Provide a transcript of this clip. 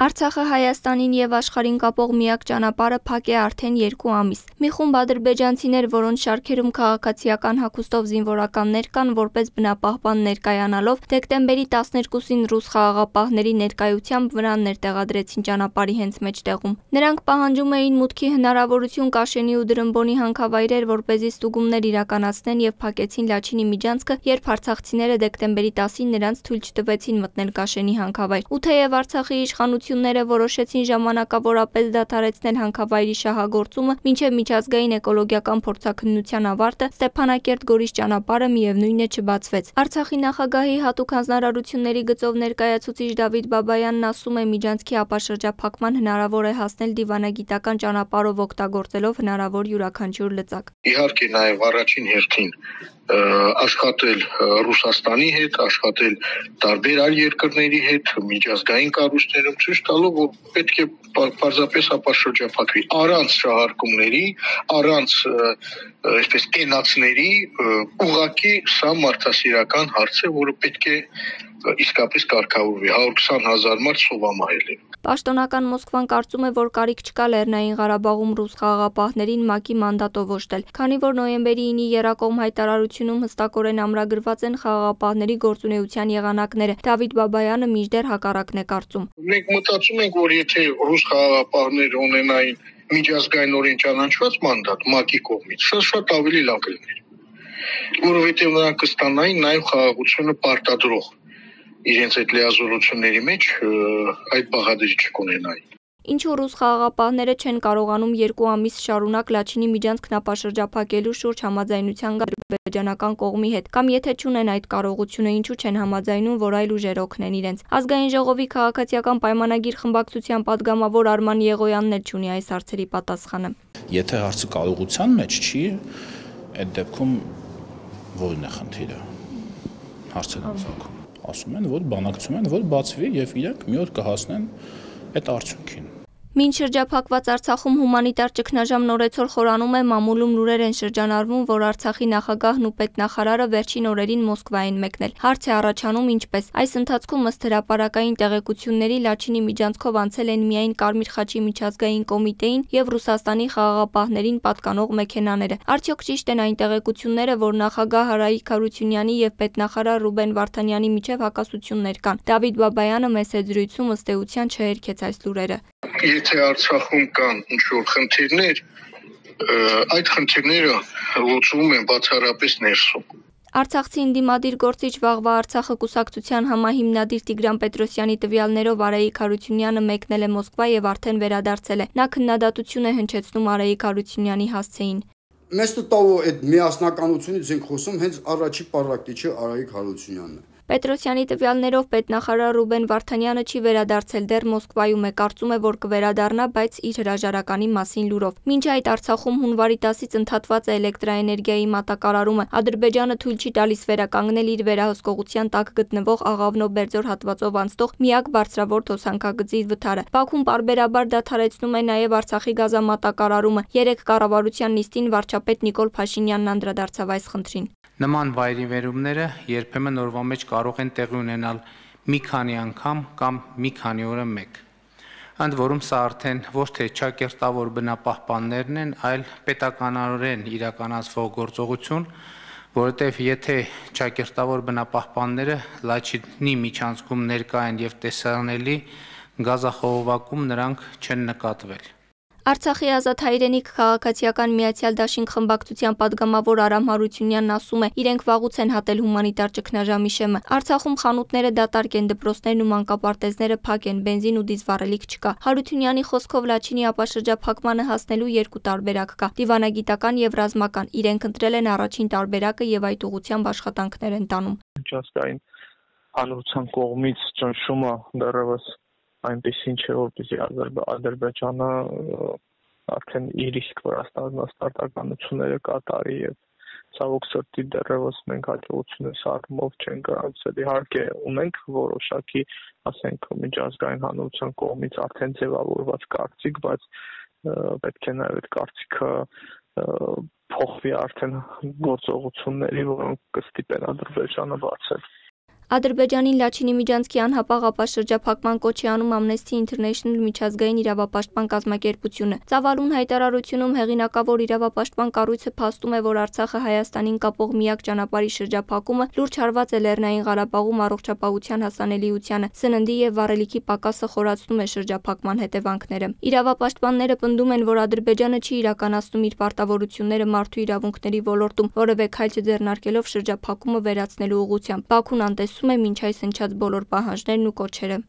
Արցախը Հայաստանին եւ աշխարհին կապող միակ ճանապարհը փակ է արդեն 2 ամիս։ Մի խումբ ադրբեջանցիներ, որոնց շարքերում քաղաքացիական հագուստով զինվորականներ կան, որպես բնապահպան ներկայանալով, դեկտեմբերի 12-ին ռուս խաղաղապահների ներկայությամբ վրաններ տեղադրեցին ճանապարհի հենց մեջտեղում։ Նրանք պահանջում էին մուտքի հնարավորություն Կաշենի ու Դրմբոնի հանքավայրեր, որպեսզի ստուգումներ իրականացնեն եւ փակեցին Լաչինի միջանցքը, երբ արցախցիները դեկտեմբերի 10-ին նրանց թույլ չտվեցին մտնել Կաշենի հանքավայր։ Ու թեև Արցախի իշխանությունները որոշեցին ժամանակավորապես դադարեցնել հանքավայրի շահագործումը մինչև միջազգային էկոլոգիական փորձաքննության ավարտը, Ստեփանակերտ-Գորիս ճանապարհը միևնույն է չբացվեց։ Արցախի նախագահի հատուկ հանձնարարությունների գծով ներկայացուցիչ Դավիթ Բաբայանն ասում է, միջանցքի ապաշրջափակման հնարավոր է հասնել դիվանագիտական ճանապարհով օգտագործելով հնարավոր յուրաքանչյուր լծակ։ Իհարկե նաև առաջին հերթին աշխատել Ռուսաստանի հետ, աշխատել տարբեր այլ երկրների հետ, միջազգային կառույցներում ցույց տալով, որ պետք է պարզապես ապաշրջափակվի առանց շահարկումների, առանց այսպես կենացների, ուղղակի սա մարդասիրական հարց է, որը պետք է իսկապես կարգավորվի, 120,000 մարդ սովամահել է։ Պաշտոնական Մոսկվան կարծում է, որ կարիք չկա Լեռնային Ղարաբաղում ռուս խաղաղապահներին ՄԱԿ-ի մանդատով օժտել, քանի որ նոյեմբերի 9-ի Եռակողմ հայտարարությունում հստակորեն ամրագրված են խաղաղապահների գործունեության եղանակները։ Դավիթ Բաբայանը մինչդեռ հակառակն է կարծում։ Մենք մտածում ենք, որ եթե ռուս խաղաղապահները ունենային միջազգայինորեն ճանաչված մանդատ ՄԱԿ-ի կողմից, շատ ավելի լավ կլիներ, որովհետև նրանք կստանային նաև խաղաղությունը պարտադրող իրենց այդ լիազորությունների մեջ այդ բաղադրիչը կունենային։ Ինչու ռուս խաղաղապահները չեն կարողանում 2 ամիս շարունակ Լաչինի միջանցքն ապաշրջափակելու շուրջ համաձայնության գալ ադրբեջանական կողմի հետ, կամ եթե չունեն այդ կարողությունը, ինչու չեն համաձայնում, որ այլ ուժեր օգնեն իրենց։ Ազգային ժողովի քաղաքացիական պայմանագիր խմբակցության падգամավոր Արման Եղոյանն էլ չունի այս հարցերի պատասխանը։ Եթե հարցը կարողության մեջ չի, այդ դեպքում որն է խնդիրը։ Հարցը դարձակում։ Ասում են, որ բանակցում են, որ բացվի եւ իրենք մի օր կհասնեն այդ արդյունքին։ Մինչ շրջափակված Արցախում հումանիտար ճգնաժամ նորեցօր խորանում է, մամուլում լուրեր են շրջանառվում, որ Արցախի նախագահն ու պետնախարարը վերջին օրերին Մոսկվա են մեկնել։ Հարց է առաջանում ինչպես։ Այս ընթացքում ըստ հրապարակային տեղեկությունների Լաչինի միջանցքով անցել են միայն Կարմիր խաչի միջազգային կոմիտեին եւ Ռուսաստանի խաղաղապահներին պատկանող մեքենաները։ Արդյոք ճիշտ են այն տեղեկությունները, որ նախագահ Հարայիկ Հարությունյանի եւ պետնախարար Ռուբեն Վարդանյանի միջև հակասություններ կան։ Դավիթ Բաբայանը մեծ զրույցում ըստ էության չհերքեց այս լուրերը։ Եթե Արցախում կան ինչ-որ խնդիրներ, այդ խնդիրները լուծվում են բացառապես ներսում։ Արցախցի ընդդիմադիր գործիչ Վաղվա Արցախը կուսակցության համահիմնադիր Տիգրան Պետրոսյանի տվյալներով Արայիկ Հարությունյանը մեկնել է Մոսկվա եւ արդեն վերադարձել է։ Նա քննադատություն է հնչեցնում Արայիկ Հարությունյանի հասցեին։ Մեծ տալու այդ միասնականությունից ենք խոսում, հենց առաջի պարակտիչը Արայիկ Հարությունյանն է։ Պետրոսյանի տվյալներով պետնախարար Ռուբեն Վարդանյանը չի վերադարձել դեռ Մոսկվայում է, կարծում է, որ կվերադառնա, բայց իր հրաժարականի մասին լուրով։ Մինչ այդ Արցախում հունվարի 10-ից ընդհատված է էլեկտրաէներգիայի մատակարարումը։ Ադրբեջանը թույլ չի տալիս վերականգնել իր վերահսկողության տակ գտնվող Աղավնո-Բերձոր հատվածով անցնող միակ բարձրավոր թոսանքագծի վթարը։ Բաքուն պարբերաբար դադարեցնում է նաև Արցախի գազամատակարարումը։ Երեկ կառավարության նիստին վարչապետ Նիկոլ Փաշինյանն անդրադարձավ այս խնդրին։ Նման վայրիվերումները երբեմն օրվա մեջ կարող են տեղի ունենալ մի քանի անգամ կամ մի քանի օրը մեկ։ Ընդ որում սա արդեն ոչ թե ճակերտավոր բնապահպաններն են, այլ պետականորեն իրականացվող գործողություն, որովհետև եթե ճակերտավոր բնապահպանները Լաչինի միջանցքում ներկա են եւ տեսանելի, գազախողովակում նրանք չեն նկատվել։ Արցախի ազատ հայրենիք քաղաքացիական միացյալ դաշինք խմբակցության падգամավոր Արամ Հարությունյանն ասում է, իրենք վաղուց են հատել հումանիտար ճգնաժամի շեմը։ Արցախում խանութները դատարկ են, դպրոցներն ու մանկապարտեզները փակ են, բենզին ու դիզվառելիք չկա։ Հարությունյանի խոսքով Լաչինի ապաշրջափակմանը հասնելու 2 տարբերակ կա՝ դիվանագիտական եւ ռազմական։ Իրենք ընտրել են առաջին տարբերակը եւ այդ ուղղությամբ աշխատանքներ են տանում։ Միջազգային հանրության կողմից ճնշումը դեռևս այնպեսին չէ, որպեսզի Ադրբեջանը արդեն իր իսկ վրաստանացականությունները կատարի եւ ցավոք սրտի դեռևս մենք հաջողությունս առումով չենք գրանցել։ Իհարկե ունենք որոշակի, ասենք, միջազգային հանրության կողմից արդեն ձևավորված կարծիք, բայց պետք է նաեւ այդ կարծիքը փոխվի արդեն գործողությունների, որոնք կստիպեն Ադրբեջանը բացել։ Ադրբեջանին Լաչինի Միջանցքի անհապաղ ապաշրջափակման կոչ է անում Amnesty International միջազգային իրավապաշտպան կազմակերպությունը։ Ծավալուն հայտարարությունում հեղինակավոր իրավապաշտպան կառույցը փաստում է, որ Արցախը Հայաստանին կապող միակ ճանապարհի շրջափակումը լուրջ հարված է Լեռնային Ղարաբաղում առողջապահության հասանելիությանը, սննդի եւ վառելիքի պակասը խորացնում է շրջափակման հետևանքները։ Իրավապաշտպանները պնդում են, որ Ադրբեջանը չի իրականացնում իր պարտավորությունները մարդու իրավունքների ոլորտում, որևէ քայլ չձեռնարկելով շրջափակումը վերացնելու ուղղությամբ։ Բաքուն անտեսում է մինչ այս հնչած բոլոր պահանջներն ու կոչերը։